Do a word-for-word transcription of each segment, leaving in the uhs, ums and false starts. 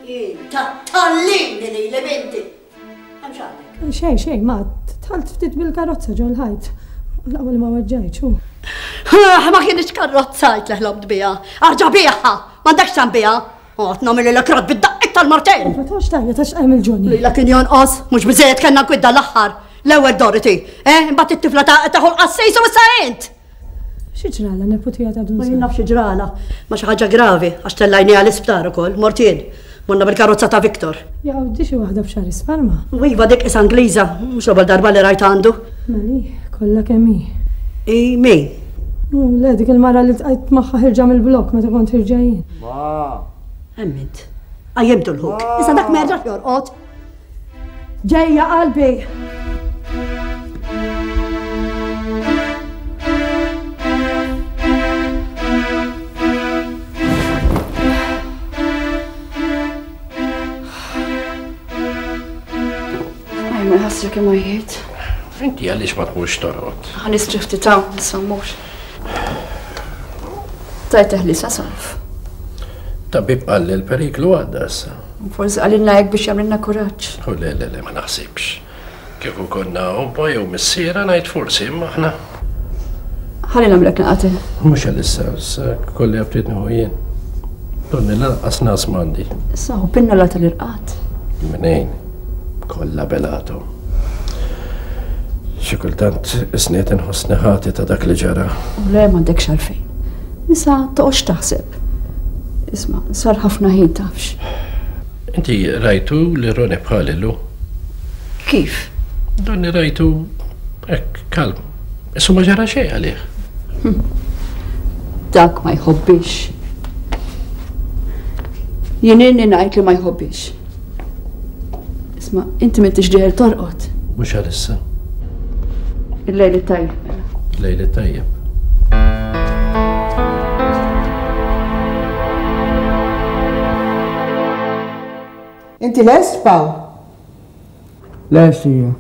Ta' tallini li l-binti. Hemm x'għandek? Xejn, xejn, ma dħalt ftit bil-karozza ġol-ħajt. L-ewwel ma weġġajtx. Ah, ma kienx karozza li ħlobt biha. Arġa' biha! M'għandekx tan biha. Għot nagħmel il-krot bid-daqqiet tal-martell. Ma tafx tajja ta' x'qajm il-Johnny. Lila kien jonqos, mhux biżejjed kellna kwidda l-aħħar. L-ewwel Dorothy, eh, imbagħad it-tifla ta' taħu l-qassejs u issa int. Xi ġrala neputija ta' Dun Ma jien naf xi ġrala, ma xi ħaġa gravi għax tellajni għall-isptar ukoll, mortien. Morna bil-karozza ta' Viktor. Jaw, di xi waħda b'xar isfar ma. U iva dik is Angliża, mhux l-ewwel darba li rajt għandu. Meli, kollha kemm hi. I min? U le dik il-mara li ltqajt magħha ħirġa mill-blok meta kont ħirġa jien. Ma. Hemm int. Qajjimtu l-ħuk. Issa dak ma jerġax jorqod. Ġejja qalbi. Għaj, ma ħassra kemm għajjiet. Inti għaliex ma tmurx torqod? Ħa nistrieħ ftit ta' issa mmur. Tajt teħlisa Salv. Tabib qal li l-periklu għadda issa. Forsi qalilna hekk biex jagħmilna kuraġġ. U le, le, le, ma naħsibx. Kieku konna omma jew missiera ngħid forsi imma aħna. Ħalli nagħmlek naqra te. Mhux għalissa, issa kolli għabtit nieħu jien. Donni lanqas nas m'għandi. Issa hu pinnola tal-irqad. Minejn, kollha belatu. Xi kultant isniet inħossni ħati ta' dak li ġara. U le m'għandekx għalfejn. Issa toqgħodx taħseb. Isma', sar ħafna ħin tafx. Inti rajtu li Roni bħal illum? Kif? Donni rajtu hekk kalm. Issu ma ġara xejn għalih. Dak ma jħobbix. Jien inni ngħid li ma jħobbix. Isma', inti m'intix dieħel torqod. Mhux għalissa. Il-lejl it-tajjeb. mela. Lejl it-tajjeb. Inti lest, Paw? Lest hija.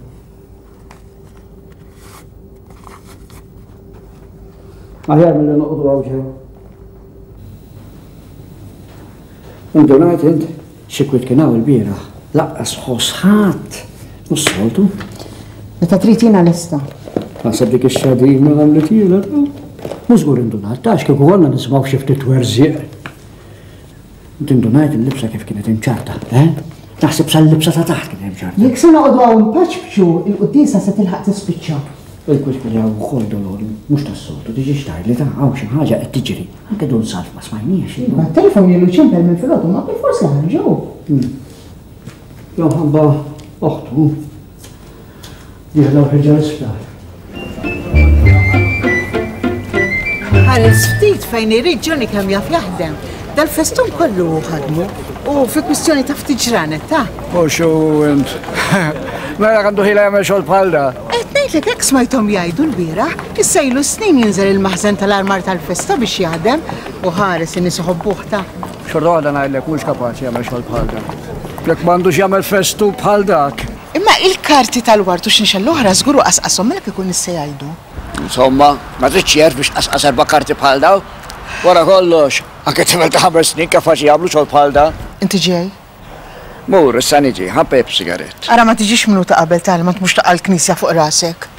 Aħjar milli noqogħdu hawn ġew. Indunajt int xi kwiet kien hawn il-bieraħ. Lanqas ħoss ħadd. Mhux soltu. Meta trid jiena lesta. Naħseb dik ix-xadina għamlet jiela. Mhux żgur indunat, tax kieku konna nisimgħu xi ftit werżieq. Inti indunajt il-libsa kif kienet imċarta, eh? Naħseb sal-libsa ta' taħt kienet imċarta. Jekk se noqogħdu hawn npaċpċu, il-quddiesa se tilħaq tispiċċa. Il-kwiet kien hawn ukoll dolori, mhux tas-soltu, tiġi xtajli ta' hawn xi ħaġa qed tiġri. Anke Dun Salv ma smajniex. Iva, telefon ilu ċempel minn filgħodu ma bil-fors li ħarġu. Jew ħabba oħtu. Dieħla u ħirġa l-isptar. Ħares ftit fejn irid Johnny kemm jaf jaħdem. Dal-festun kollu ħadmu u fi kwistjoni ta' ftit ġranet ta' U xu int. Mela għandu ħila jagħmel xogħol bħal da. Qed ngħidlek hekk smajthom jgħidu l-bieraħ, issa ilu snin jinżel il-maħżen tal-armar tal-festa biex jaħdem u ħares in-nies iħobbuh ta' Xorta waħda ngħidlek mhux kapaċi jagħmel xogħol bħal da. Jekk m'għandux jagħmel festu bħal dak. Imma il-karti tal-wart u xinxel l-oħra żguru qasqashom mela kieku nies se jgħidu. Insomma, ma tridx jerf biex qasqas erba' karti bħal daw. Wara kollox, anke tifel ta' ħames snin kapaċi jagħmlu xogħol bħal da. Inti ġej? Mur, issa niġi, ħa npejjep sigarett. Ara ma tiġix minuta qabel tal ma tmux taqa' l-knisja fuq rasek.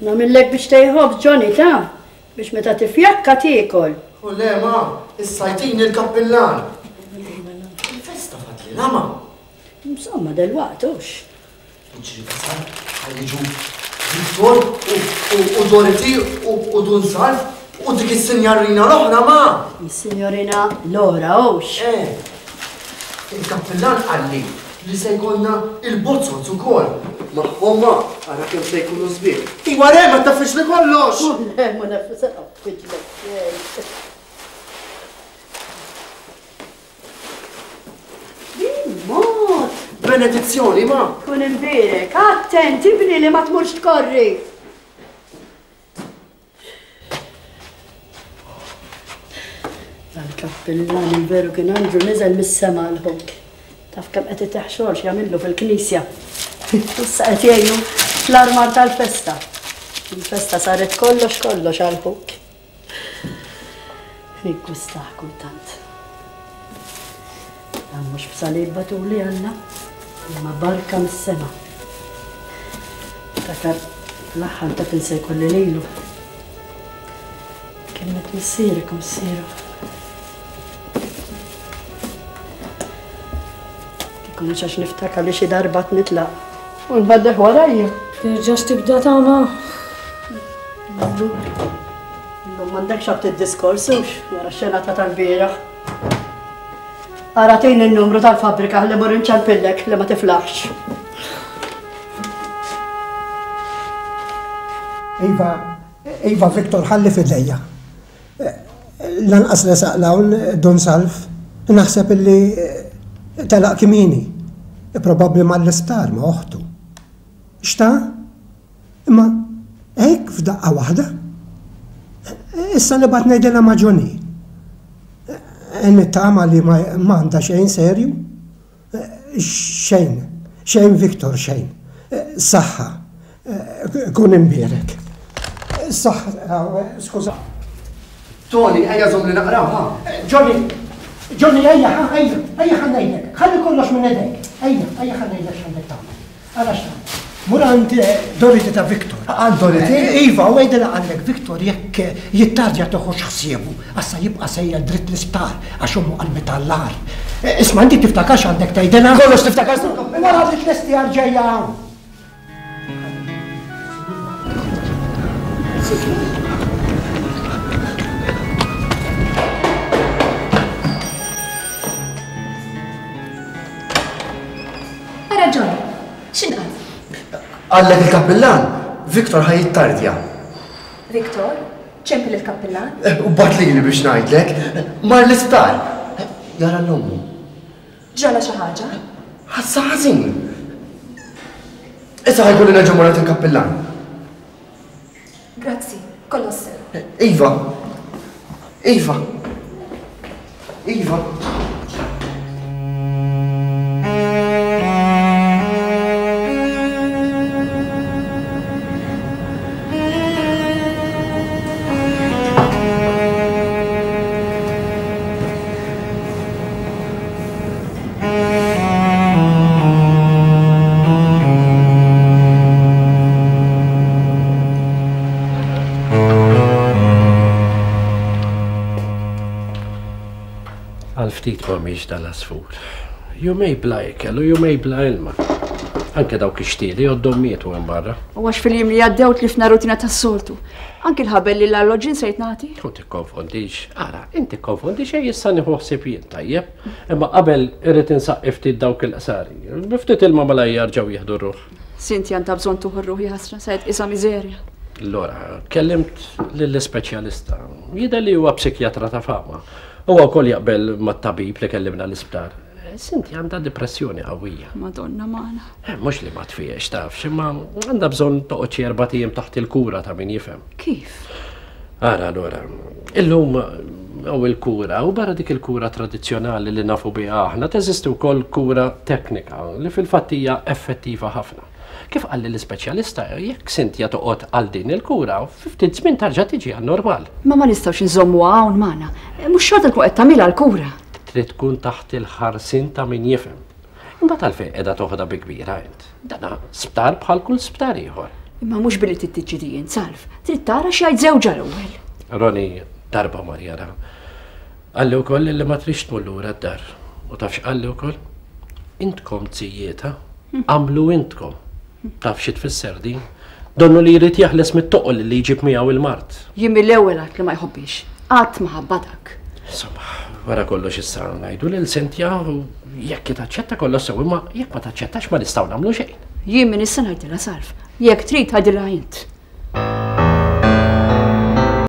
Nagħmillek biex tejħob Johnny ta' biex meta tifjakka tiekol. U le ma, issa jtini l-kappillan. Il-festa fadlilha ma. Insomma, delwaqt hux. Iġri tasal, ħalliġu Viktor u Dorothy u Dun Salv u dik is-sinjarina l-oħra ma. Is-sinjorina Lora hux. Eh, il-kappillan qalli li se jkollna il-bozzot ukoll. Magħhom ma. Ara kemm se jkunu sbieħ. Iwa re, ma tafx li kollox! Le, ma nafx se naffiġlek. Bil-mod! Benedizzjoni, ma! Kun imbierek, attent, ibni li ma tmurx tkorri. Dal-kappillan il-veru kien anġlu niżel mis-sema l-ħuk. Taf kemm qed iteħ xogħol x'jagħmillu fil-knisja. Issa qed jgħinu fl-armar tal-festa. Il-festa saret kollox kollox għal ħuk. Niggustah kultant. Dan mhux b'salib batuli Alla, imma barka mis-sema. Ftakar fl-aħħar ta' tinsa jkolli lilu. Kienet missierek u missieru. Kieku għax niftakar li xi darba nitlaq u nbaddeħ warajja. Terġax tibda tagħma. Illum m'għandekx għabt id-diskors hux wara x-xenata tal-bieraħ. Ara tgħin in-numru tal-fabbrika li mur inċempillek li ma tiflaħx. Iva, Iva Viktor ħalli f'idejja. Lanqas resaq l-hawn Dun Salv, naħseb illi telaq kmieni, probabbli mal-isptar ma' oħtu. Xta? Imma hekk f'daqqa waħda? Issa nibgħat ngħidilha ma' Johnny. Nittama li ma għandha xejn serju? Xejn, xejn Viktor, xejn. Saħħa, kun imbierek. Saħħa, skuża. Tony, ejja żomm li naqraw, ha? Johnny, Johnny, ejja, ejja, ejja ħa ngħidlek, ħalli kollox minn idejk. Ejja, ejja ħa ngħidlek x'għandek tagħmel. Ara x'tagħmel. Mur għand Dorothy ta' Viktor. Għand Dorothy? Iva, u għidilha għandek Viktor jekk jittardja toħroġ ħsiebu, assa jibqa' sejjer dritt l-isptar għax ommu qalbet għall-agħar. Isma' inti tiftakar x'għandek tgħidilha? Kollox tiftakar. Wara li tlesti għal ġejja hawn. Ara John, x'inqal? Għallek il-kappillan, Viktor ħa jittardja. Viktor, ċempel il-kappillan? U bat lili biex ngħidlek, mar l-isptar. Jara l-ommu. Ġrala xi ħaġa? Ħassa ħażin. Issa ħajkolli nerġa' mmur għand il-kappillan. Grazzi, kollox sew. Iva. Iva. Iva. Ftit ma miex dal-asfur. Jumej bla ikel u jumej bla ilma. Anke dawk ix-xtieli għoddhom mietu hemm barra. U għax fil-jiem li għaddew tlifna rutina tas-soltu. Anke l-ħabel li l-alloġin sejt nagħti. U tikkonfondix. Ara, inti tikkonfondi xejn issa nieħu ħsieb jien tajjeb. Imma qabel irrid insaqqi ftit dawk il-qsari. Ftit ilma malajr jerġgħu jieħdu r-ruħ. Sinti għandha bżonn tuħu r-ruħ jaħsra, sajt isa miżerja. Allora, kellimt lill-ispeċjalista. Jidher li huwa psikjatra ta' fama. Huwa wkoll jaqbel mat-tabib li kellimna l-isptar. Sinti għandha depressjoni qawwija. Madonna magħna. Mhux li ma tfiex tafx, imma għandha bżonn toqgħod xi erba' ijiem taħt il-kura ta' min jifhem. Kif? Ara allura, illum hawn il-kura u barra dik il-kura tradizzjonali li nafu biha aħna teżisti wkoll kura teknika li fil-fatt hija effettiva ħafna. Kif qalli l-ispeċjalista, jekk Sintja toqgħod għal din il-kura, fi ftit żmien tarġa' tiġi għan-normal. Ma ma nistgħux inżommuha hawn magħna. Mhux xorta tkun qed tagħmilha l-kura. Trid tkun taħt il-ħarsien ta' min jifhem. Imbagħad għalfejn qiegħda toħodha bi kbira int. Dana sptar bħal kull sptar ieħor. Imma mhux billi trid tiġi int Salv, trid tara x'jgħid żewġha l-ewwel. Roni darba mar jara. Qalli wkoll li ma trix tmur lura d-dar. U taf x'qalli wkoll? Intkom tzijieta, għamlu intkom. Taf xi tfisser din? Donnu li jrid jaħles mit-toqol li jġib miegħu il-mart. Jien mill-ewwel għad li ma jħobbix. Qatt ma ħabba dak. Insomma, Wara kollox issa ngħidu lil Cynthia u jekk taċċetta kollox sew, imma jekk ma taċċettax ma nistgħu nagħmlu xejn. Jien minn issa ngħidilha Salv. Jekk trid għidilha int.